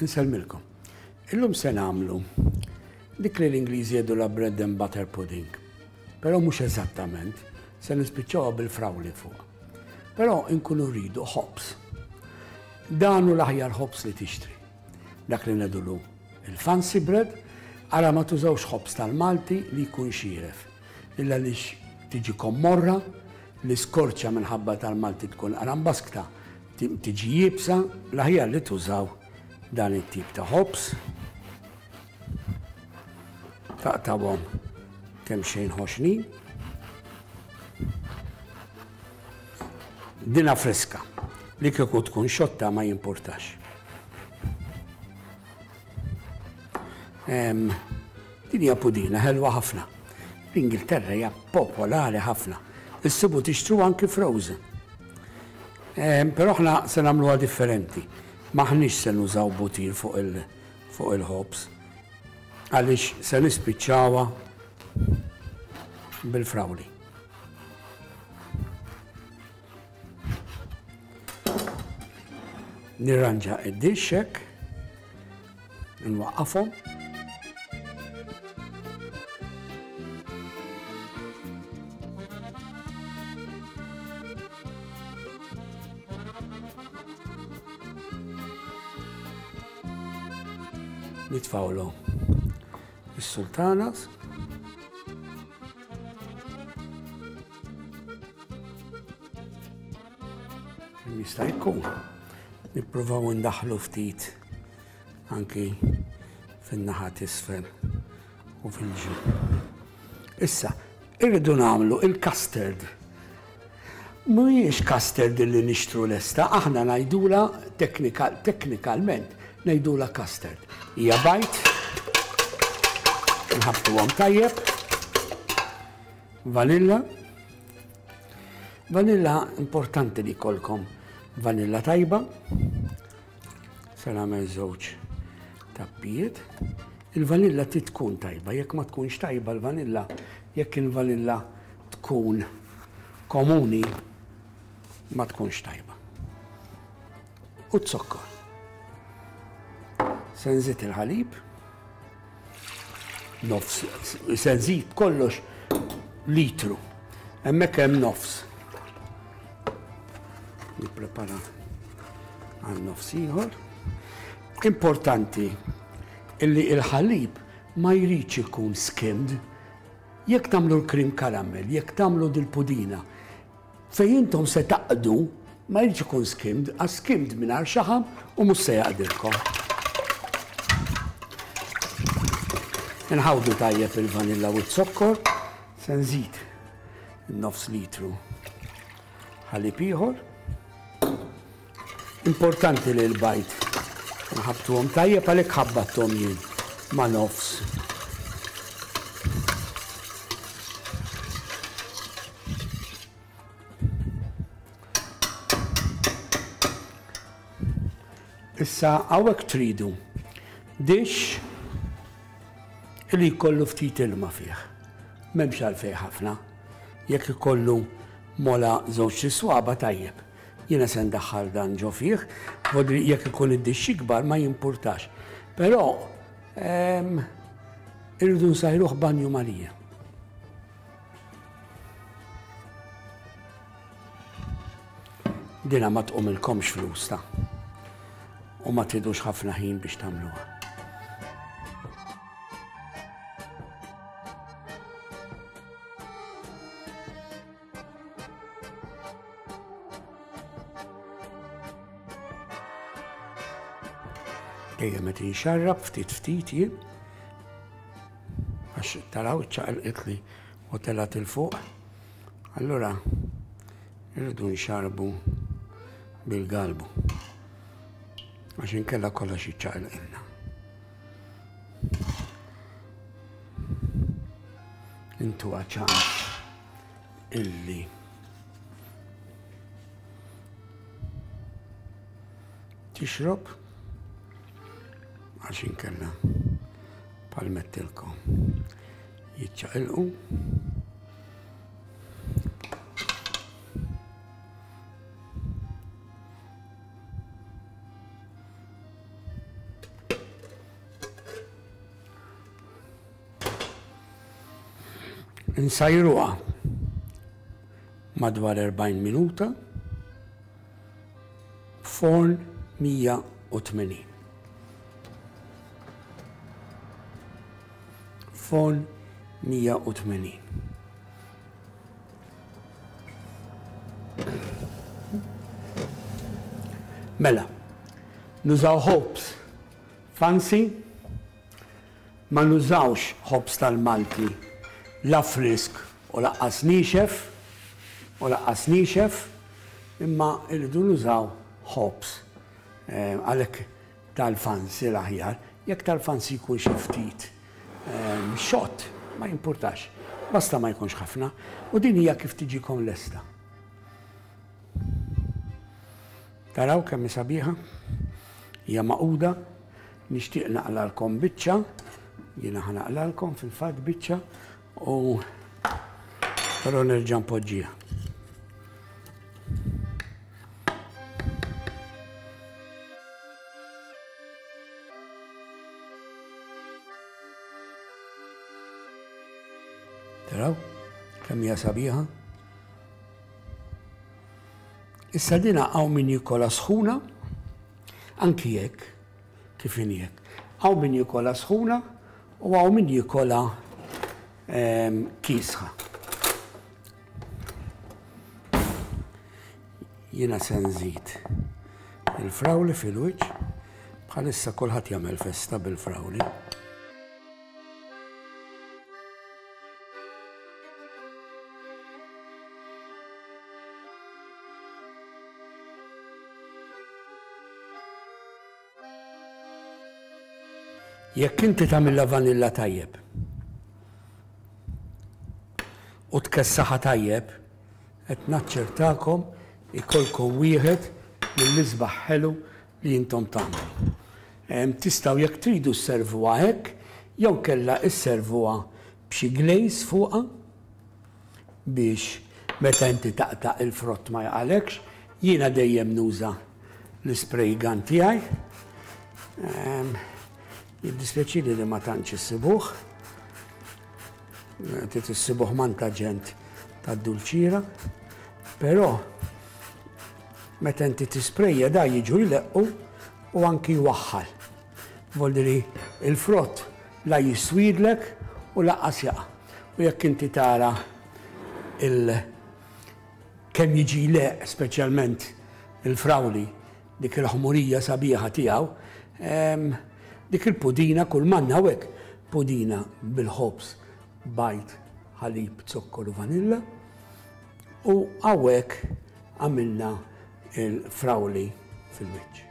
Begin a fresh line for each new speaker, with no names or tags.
Insellmilkom. Illum se nagħmlu dik li l-Ingliżi jgħidulha bread and butter pudding. Però mhux eżattament, se nispiċċawha bil-frawli fuq. Però inkunu rridu ħobż. Dan hu l-aħjar ħobż li tixtri. Dak li ngħidulu il-fancy bread, ara ma tużawx ħobż tal-Malti li jkun xieref. Illa għaliex tiġikom morra, l-iskorċa minħabba tal-Malti tkun qarambaskta, tiġi iebsa, l-aħjar li tużaw dan it-tip ta' ħobż. Taqtawhom kemm xejn ħoxnin. Dina friska, li kieku tkun xotta ma jimpurtax. Din hija pudina ħelwa ħafna. L-Ingilterra hija popolari ħafna. Issibu tixtru anki frozen. Però aħna se nagħmluha differenti. M'aħniex se nużaw butir fuq il fuq il-ħobż għaliex se nispiċċawha bil-frawli. Nirranġa id-dixx hekk, nwaqqafhom. Nitfawlu is-sultanas. Jista' jkun. Nippruvaw indaħħlu ftit anki fin-naħa t'isfel u fil-ġenb. Issa, irridu nagħmlu il-custard. Mhijiex custard li nixtru lesta, aħna ngħidulha teknikalment ngħidulha custard. Hija bajd, nħabbtuhom tajjeb, vanilla, Vanilla importanti li jkollkom vanilla tajba. Se nagħmel żewġ tappijiet. Il-vanilla trid tkun tajba, jekk ma tkunx tajba l-vanilla, jekk il-vanilla tkun komuni ma tkunx tajba. U z-zokkor. Se nżid il-ħalib. Nofs, se nżid kollox litru. Hemmhekk hemm nofs. Nipprepara għal nofs ieħor. Importanti illi il-ħalib ma jridx ikun skimmed. Jekk tagħmlu l-cream caramel, jekk tagħmlu dil-pudina, Fejn intom se taqdu ma jridx ikun skimmed, għax skimmed mingħajr xaħam u mhux se jaqdilkom. Inħawdu tajjeb il-vanilla u z-zokkor, se nżid nofs litru ħalib ieħor. Importanti li l-bajd nħabbtuhom tajjeb għalhekk ħabbatthom jien ma' nofs. Issa hawnhekk tridu dixx li jkollu ftit ilma fih. M'hemmx għalfejn ħafna. Jekk ikollu mola żewġ swaba tajjeb. Jiena se ndaħħal dan ġo fih, vodri jekk ikun id-dixx ikbar ma jimpurtax. Però ehm, irridu nsajruh banju Marija. Dina ma tqumilkomx flus ta' u ma tridux ħafna ħin biex tagħmluha. Dejjem qed inxarrab ftit ftit jien. Għax taraw iċċaqilqitli u telgħet 'il fuq. Allura irridu nxarbu bil-galbu. Għax inkella kollox jiċċaqilqilna. Intuha ċans illi tixrob għax inkella palmettilkom jiċċaqilqu. Insajruha madwar 40 minuta f'forn 180. Forn 180. Mela, nużaw ħobż fancy, ma nużawx ħobż tal-Malti la frisk u laqqas niexef, u laqqas niexef, imma rridu nużaw ħobż eh, għalhekk tal-fancy l-aħjar, jekk tal-fancy jkun xi ftit xott, ma jimpurtax, basta ma jkunx ħafna, u din hija kif tiġikom lesta. Taraw kemm hi sabiħa? Hija maquda, nixtieq naqlalkom biċċa, jiena ħa naqlalkom fil-fatt biċċa u però nerġa' npoġġiha. Taraw kemm hija sabiħa? Issa dina hawn min jikola sħuna, anki jekk, kif inhi hekk. Hawn min jikola sħuna u hawn min jikola ehm, kiesħa. Jiena se nżid il-frawli fil-wiċċ. Bħalissa kulħadd jagħmel festa bil-frawli. Jekk inti tagħmilha vanilla tajjeb u tkessaħha tajjeb, qed naċċertakom ikollkom wieħed mill-isbaħ ħelu li intom tagħmlu. Tistgħu jekk tridu sservuha hekk jew kellha sservuha b'xi glaze fuqha biex meta inti taqta' il-frott ma jaqalekx. Jiena dejjem nuża l-ispray gun tiegħi. Jiddispjaċini li ma tantx issibuh. Trid issibuh manta ġent tad-dulċiera. Però meta inti tisprejja da jiġu jleqqu u anki jwaħħal. Voldiri il-frott la jiswidlek u laqqas jaqa'. U jekk inti tara il kemm jiġi jleqq speċjalment il-frawli, dik il-ħmurija sabiħa tiegħu, dik il-pudina kull m'għandna hawnhekk pudina bil-ħobż, bajd, ħalib, zokkor u vanilla. U hawnhekk għamilna il-frawli fil-wiċċ.